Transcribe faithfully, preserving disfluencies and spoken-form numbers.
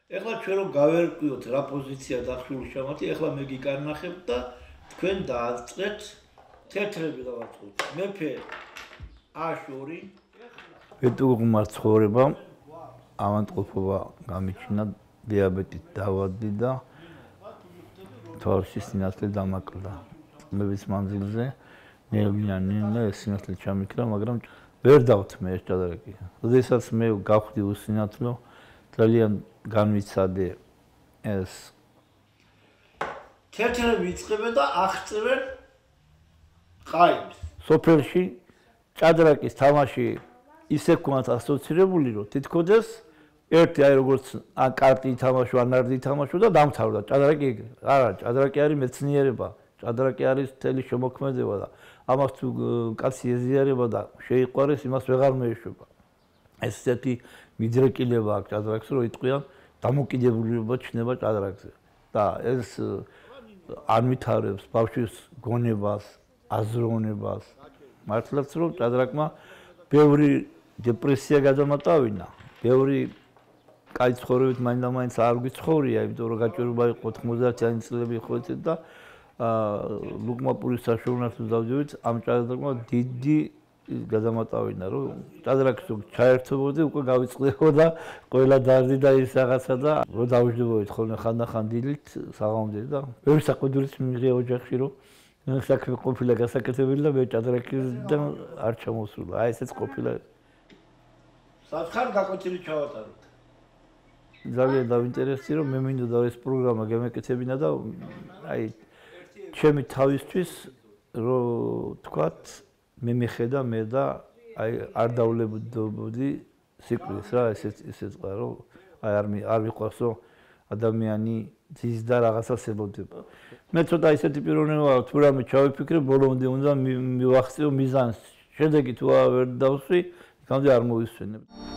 ეხლა ჩვენ რომ გავერკვიოთ რა პოზიცია დახშული შამათი, ეხლა მე გიკარნახებ და თქვენ დააწყეთ თეთრები დავაწყოთ. მეფე აშური ბედუღმა ცხოვრებამ ავადმყოფობა გამიჩინა, დიაბეტით დავადდი და თვალში სინათლე დამაკლდა. წლების მანძილზე ნელ-ნელა ეს სინათლე ჩამიქრა, მაგრამ ვერ დავთმე ეს ჭადრაკი. როდესაც მე გავხდი უსინათლო, ძალიან განვიცადე ეს თეთრები იწყებენ და აღწევენ ყაიმს. სოფელში ჭადრაკის თამაში ისე ქონათ ასოცირებული, რომ თითქოს ერთი აი როგორც ან კარტი ითამაშო, ან ნარდი ითამაშო და დამთავრდა. ჭადრაკი არა, ჭადრაკი არის მეცნიერება, ჭადრაკი არის მთელი შემოქმედება და ამას თუ კაცი ეზიარება და შეიყვარეს, იმას ვეღარ მეეშვება. ეს ესეთი მიდრეკილება აქვს ჭადრაკს, რომ იტყვიან დამოკიდებულება ჩნდება ჭადრაკზე. და ეს არ ვითარებს ბავშვის გონებას, აზროვნებას. მართლაც რომ ჭადრაკმა ბევრი დეპრესია გადამატავინა, ბევრი კაი ცხოვრებით მაინდა-მაინც არ გვიცხოვრია, იმიტომ რომ გაჭირვება იყო ოთხმოცდაათიანი წლები ხვეწეთ და ლუკმაპურის საშუალებრივ დავდივით, ამ ჭადრაკმა დიდი გადამატავინა, რომ ჭადრაკს ჩაერთვებოდი, უკვე გავიწყდებოდა და ყველა დარდი და ის რაღაცა და რომ დავждებოდით ხოლმე ხანდახან დილით საღამომდე და ბევრი საყვედურიც მიიღია ოჯახში, რომ საქმე ყოფილა გასაკეთებელი და მე ჭადრაკიდან არ ჩამოსულა. აი ესეც ყოფილა. სათხარ გაკვეთილი ჩავატაროთ. ძალიან დავინტერესდი, რომ მე მინდოდა ეს პროგრამა გამეკეთებინა და აი ჩემი თავისთვის რომ თქვათ მე მიხედა მე და აი არ დავლებოდი სიკვდილს რა, ესეც ესეც ყა რომ აი არ არ მიყვარს რომ ადამიანი ძის და რაღაცას ელოდება. მე ცოტა ისეთი პიროვნება თუ რამე ჩავიფიქრე, ბოლომდე უნდა მივახციო მიზანს. შედეგი თუ ვერ დავსვი, იქამდე არ მოვისვენებ.